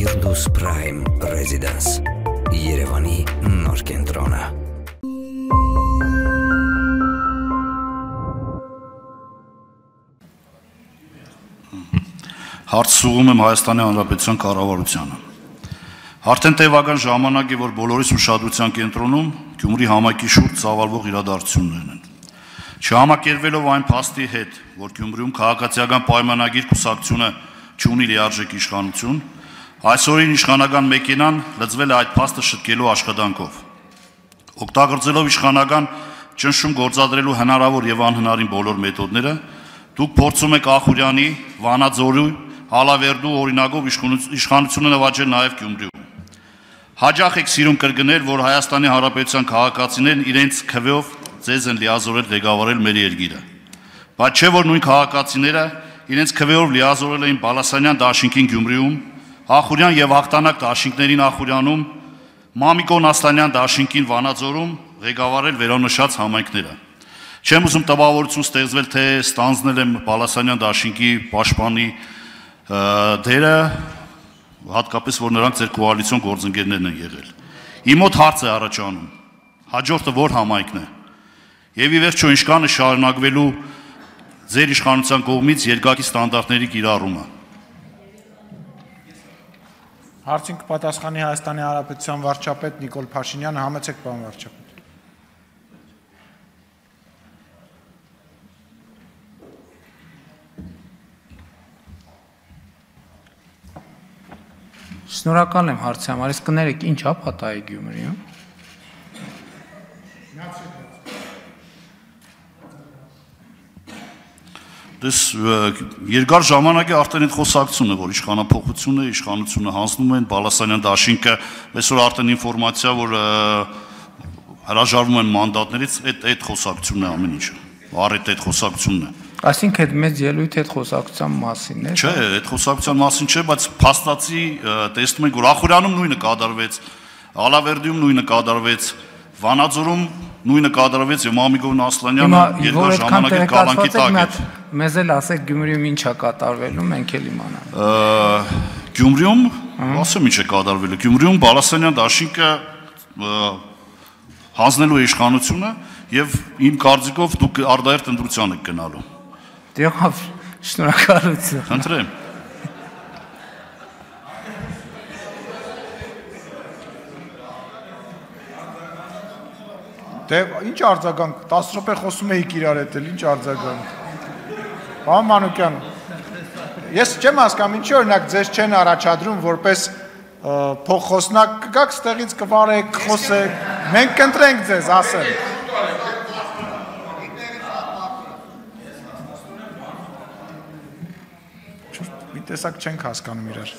Firdaus Prime Residence Երևանի նոր կենտրոնը Հարցում եմ Հայաստանի Հանրապետության կառավարությանը։ Արդեն տևական ժամանակ է, որ բոլորիս ուշադրության կենտրոնում Գյումրի համայնքի շուրջ ծավալվող իրադարձություններն են։ Չհամակերպվելով այն փաստի հետ, որ Գյումրիում քաղաքացիական պայմանագիր կուսակցությունը չունի լիարժեք իշխանություն, այսօրին իշխանական մեքենան լծվել է այդ փաստը շտկելու աշխատանքով։ Օգտագործելով իշխանական ճնշում գործադրելու հնարավոր եւ անհնարին բոլոր մեթոդները, դուք փորձում եք Ախուրյանի, Վանաձորի, Ալավերդու օրինակով իշխանությունը նվաճել նաեւ Գյումրիում։ Հաջող եք սիրում կրկնել, որ Հայաստանի Հանրապետության քաղաքացիներն իրենց քվեով ձեզ են լիազորել ղեկավարել մեր երկիրը։ Բայց չէ՞ որ նույն քաղաքացիները իրենց քվեով լիազորել էին Բալասանյան դաշինքին Գյումրիում, Ախուրյան եւ հաղթանակ դաշինքներին Ախուրյանում, Մամիկոն Ասլանյան դաշինքին Վանաձորում ղեկավարել վերոնշած համայնքները։ Չեմ ուզում տպավորություն ստեղծվել, թե ստանձնել եմ Բալասանյան դաշինքի պաշտպանի դերը, հատկապես որ նրանք ձեր կոալիցիոն գործընկերներն են եղել։ Իմ մոտ հարց է առաջանում. հաջորդը որ համայնքն է։ Եվ ի վերջո ինչքան է շարունակվելու ձեր իշխանության կողմից երկակի ստանդարտների կիրառումը։ Հարցին կպատասխանի Հայաստանի Հանրապետության վարչապետ Նիկոլ Փաշինյանը, համեցեք պարոն վարչապետ։ Շնորհակալ եմ հարցի համար, իսկ կներեք ինչ է պատահի Գյումրիում։ Դες երկար ժամանակ է արդեն այդ խոսակցությունն է, որ իշխանությունը հանձնում են Բալասանյան դաշինքը, այսօր արդեն ինֆորմացիա, որ հրաժարվում են մանդատներից, այդ խոսակցությունն է ամեն ինչը, առիթ այդ խոսակցությունն է։ Այսինքն այդ մեծ ելույթ այդ խոսակցության մասին է։ Չէ, այդ խոսակցության մասին չէ, բայց փաստացի տեսնում ենք, որ Ախուրյանում նույնը կատարվեց, Ալավերդիում նույնը կատարվեց, Վանաձորում նույնը կատարվեց եւ Մամիկոն Ասլանյանը երկար ժամանակ է կալանքի տակ է։ Մեզ էլ ասեք Գյումրիում ինչ է կատարվելու, մենք էլ իմանանք։ Գյումրիում, ասեմ ինչ է կատարվելու։ Գյումրիում Բալասանյան դաշինքը հանձնելու է իշխանությունը եւ իմ կարծիքով դուք արդայերթ ընտրության եք գնալու։ Դեղավ, շնորհակալություն։ Խնդրեմ։ Դե ինչ արձագանք, 10 րոպե խոսում էիք իրար հետ, ինչ արձագանք։ Պարոն Մանուկյան, ես չեմ հասկանում, ինչի օրինակ ձեզ չեն առաջադրում որպես փոխխոսնակ, կգաք ստեղից կվարեք, խոսեք, մենք կընտրենք ձեզ, ասել։ Մի տեսակ չենք հասկանում իրար։